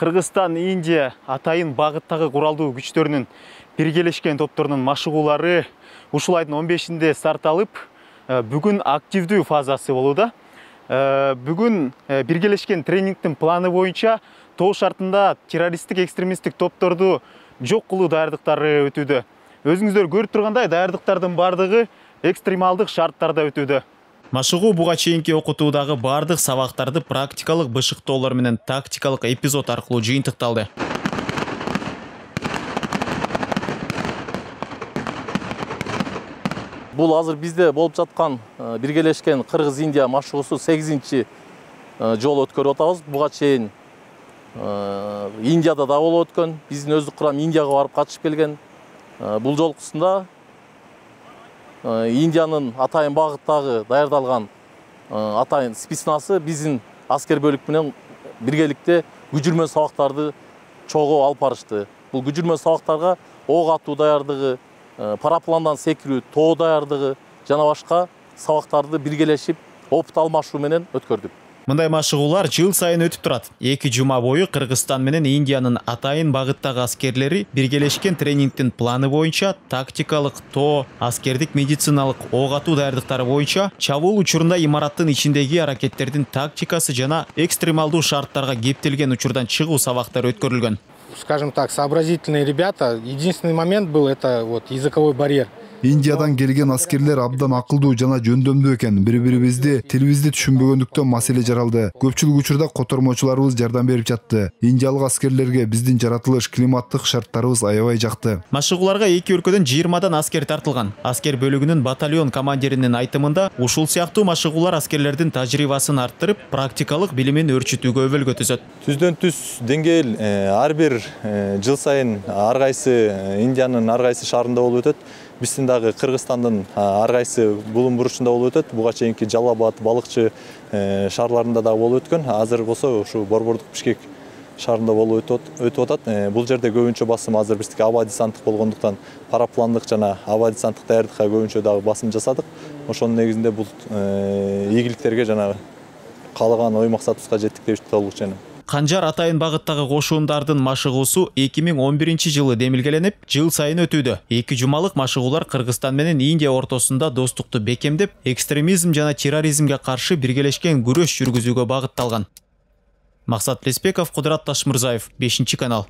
Кыргызстан, Индия атайын багыттагы куралдуу күчтөрүнүн биргелешкен топторунун машыгуулары ушул айдын 15-inde старт алып, бүгүн активдүү фазасы болууда. Бүгүн биргелешкен тренингтин планы боюнча тоо шартында террористтик экстремисттик топторду жок кылуу даярдыктары өтүүдө. Өзүңүздөр көрүп тургандай, даярдыктардын бардыгы экстремалдык шарттарда өтүүдө. Машыгуу буга чейинки окутуудагы бардык сабактарды практикалык бышыктоолор менен тактикалык эпизод аркылуу жыйынтыкталды. Бул азыр бизде болуп жаткан биргелешкен Кыргыз-Индия машыгуусу 8-чи жолу өткөрүп атабыз. Буга чейин Индияда да болуп өткөн, биздин өздүк курам Индияга барып катышып келген. Бул жолкусунда Индиянын атайын багыттагы даярдалган атайын спецназы биздин аскер бөлүк менен биргеликте күжүрмө сабактарды чогуу алып барышты. Бул күжүрмө сабактарга ок атуу даярдыгы, парапландан секирүү, тоо даярдыгы жана башка сабактарды биргелешип опыт алмашуу менен өткөрдүк. Мындай машыгуулар жыл сайын өтүп турат. 2 жума бою Кыргызстан менен Индиянын атайын багыттагы аскерлери биргелешкен тренингтин планы боюнча тактикалык, тоо, аскердик медициналык ок атуу даярдыктары боюнча чабуул учурунда имараттын ичиндеги аракеттердин тактикасы жана экстремалдуу шарттарга кептелген учурдан чыгуу сабактары өткөрүлгөн. Скажем так, сообразительные ребята. Единственный момент был это вот языковой барьер. Индиядан келген аскерлер абдан акылдуу жана жөндөмдүү экен. Бири-бирибизди тилибизди түшүнбөгөндүктөн маселе жаралды. Көпчүлүк учурда котормочуларыбыз жардам берип жатты. Индиялык аскерлерге биздин жаратылыш, климаттык шарттарыбыз аябай жакты. Машыгууларга 2 өлкөдөн 20дан аскер тартылган. Аскер бөлүгүнүн батальон командиринин айтымында, ушул сыяктуу машыгуулар аскерлердин тажрыйбасын арттырып, практикалык билимин өрчүтүүгө өбөлгө түзөт. Түздөн түз деңгээл ар бир жыл сайын ар кайсы Индиянын ар кайсы шаарында болуп өтөт. Биздин дагы Кыргызстандын ар кайсы булум буручунда болуп өтөт. Буга чейинки Жалал Абад, Балыкчы шаарларында да болуп өткөн. Азыр болсо ушу Борбордук Бишкек шаарында болуп өтүп атат. Бул жерде көбүнчө басым азыр биздики аба десанттык болгондуктан парапландык жана аба десанттык даярдыкка көбүнчө дагы басым жасадык. Ошонун негизинде бул ийгиликтерге жана каалаган ой максатыбызга жеттик деп толук ишенем. Канжар атайын багыттагы кошуундардын машыгуусу 2011-жылы демилгеленип, жыл сайын өтүүдө. 2 жумалык машыгуулар Кыргызстан менен Индия ортосунда достукту бекемдеп, экстремизм жана терроризмге каршы биргелешкен күрөш жүргүзүүгө багытталган. Максат Леспеков, Кудурат Ташмырзаев, 5-канал.